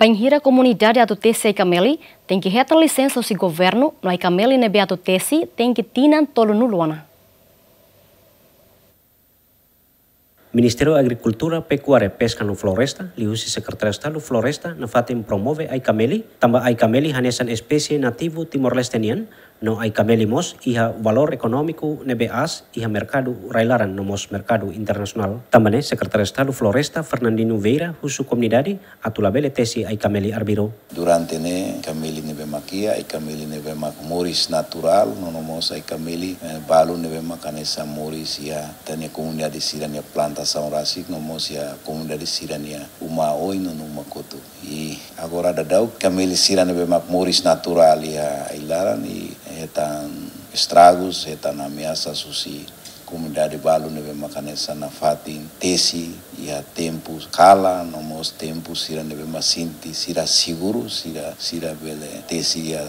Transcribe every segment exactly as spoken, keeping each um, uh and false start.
Bainhira komunidade atu tesi ai-kameli, tenke hetan lisensa husi governu, no ai-kameli ne'ebé atu tesi tenke tinan tolunulu ona. Ministériu Agrikultura, Pekuária, Peska no Floresta, liuhusi Sekretáriu Estadu Floresta, nafatin promove ai-kameli, tanba ai-kameli hanesan espésie nativu Timor-Leste nian, no ai-kameli mós iha valór ekonómiku ne'ebé aas iha merkadu rai-laran no mós merkadu internasionál. Tanba ne'e Sekretáriu Estadu Floresta, Fernandino Vieira, husu komunidade atu labele tesi ai-kameli arbiru. Durante ne'e ai-kameli ne'ebé mak iha, ai-kameli ne'ebé mak moris naturál, no mós ai-kameli, eh, balu ne'ebé mak hanesan moris iha ita-nia komunidade sira-nia plantasaun rasik, no mós iha komunidade sira-nia uma oin no uma kotuk. I agora daudaun ai-kameli sira ne'ebé mak moris naturál iha ai-laran i hetan estragus, hetan ameasa husi komunidade balu ne'ebé mak hanesan nafatin tesi iha tempu kalan, no mós tempu sira ne'ebé mak sente sira seguru, sira, sira bele tesi iha,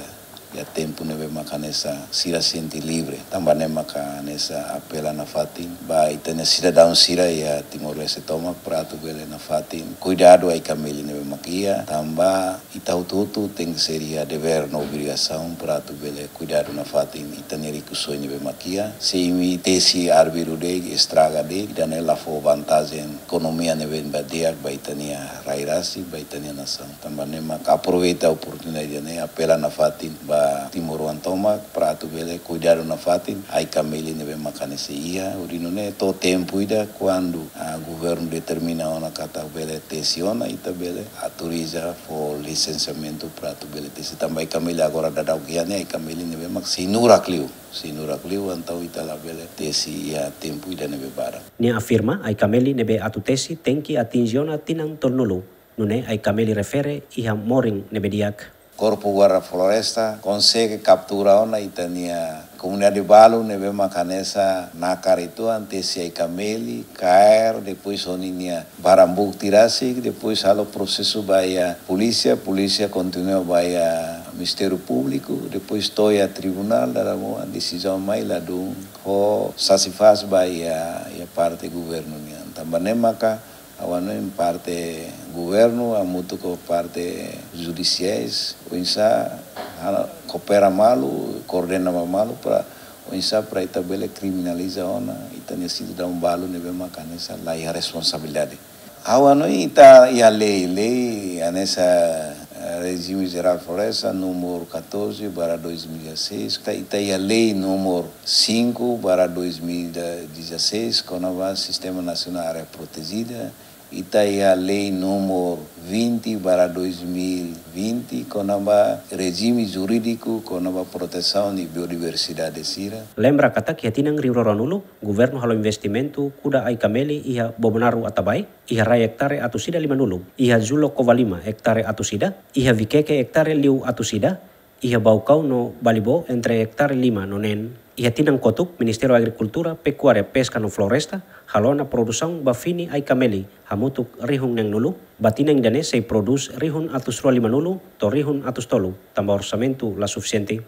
iha tempu ne'ebé mak hanesan sira sente livre. Tanba ne'e mak hanesan apela nafatin ba ita-nia sidadaun sira iha Timor-Leste tomak para atu bele nafatin kuidadu ai-kameli ne'ebé mak iha, tanba ita hotu-hotu tenke ser iha devér no obrigasaun para atu bele kuidadu nafatin ita-nia rikusoin ne'ebé mak iha. Se imi tesi arbiru de'it, estraga de'it, ida-ne'e la fó vantajen ekonomia ne'ebé ba di'ak ba ita-nia rai rasik, ba ita-nia nasaun. Tanba ne'e mak aproveita oportunidade ne'e, apela nafatin ba timoroan tomak para atu bele kuidadu nafatin ai-kameli ne'ebé mak hanesan iha. Hodi nune'e to'o tempu ida kuandu, ah, governu determina ona katak bele tesi ona, ita bele autoriza fó lisensiamentu para atu bele tesi. Tanba ai-kameli agora daudaun iha ne'e ai-kameli ne'ebé mak sei nurak liu, sei nurak liu, entaun ita labele tesi iha tempu ida ne'ebé badak. Nia afirma ai-kameli ne'ebé atu tesi tenke atinje ona tinan tolunulu. Nune'e ai-kameli refere iha morin ne'ebé di'ak. Korpu Guarda Floresta konsege kaptura ona ita-nia komunidade balu ne'ebé mak hanesan nakar uitoan tesi ai-kameli, kaer, depois ho ninia barang bukti rasik, depois halo prosesu ba iha polísia, polísia kontinua ba iha Ministériu Públiku, depois to'o iha tribunál, dala ruma desizaun mai ladún ho satisfás ba iha, iha parte governu nian. Tanba ne'e maka ha'u hanoin parte governu hamutuk ho parte judisiais, oinsá, ah, koopera malu, koordena malu para oinsá para ita bele kriminaliza ona ita-nia sidadaun balu ne'ebé mak hanesan la iha responsabilidade. Ha'u hanoin ita iha lei, lei hanesan, eh, Rejime Jerál Floresta númeru catorze barra dois mil e dezasseis, ita, ita iha lei númeru cinco barra dois mil e dezasseis, kona-ba Sistema Nasionál Área Protejida, ita iha lei númeru vinte barra dois mil e vinte, kona-ba rejime jurídiku, kona-ba protesaun de biodiversidade sira. Lembra katak iha tinan rihun rua ruanulu, governu halo investimentu kuda ai-kameli iha Bobonaro Atabae, iha rai ektare atus ida limanulu, iha Julo Covalima ektare atus ida, iha Viqueque ektare liu atus ida, iha Baucau no Balibó entre ektare lima no neen. Iha tinan kotuk, Ministériu Agrikultura, Pekuária, Peska no Floresta halo ona produsaun ba fini ai-kameli hamutuk rihun neenulu, ba tinan ida-ne'e sei prodús rihun atus rua limanulu to'o rihun atus tolu, tanba orsamentu la sufisiente.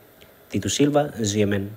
Tito Silva, G M N.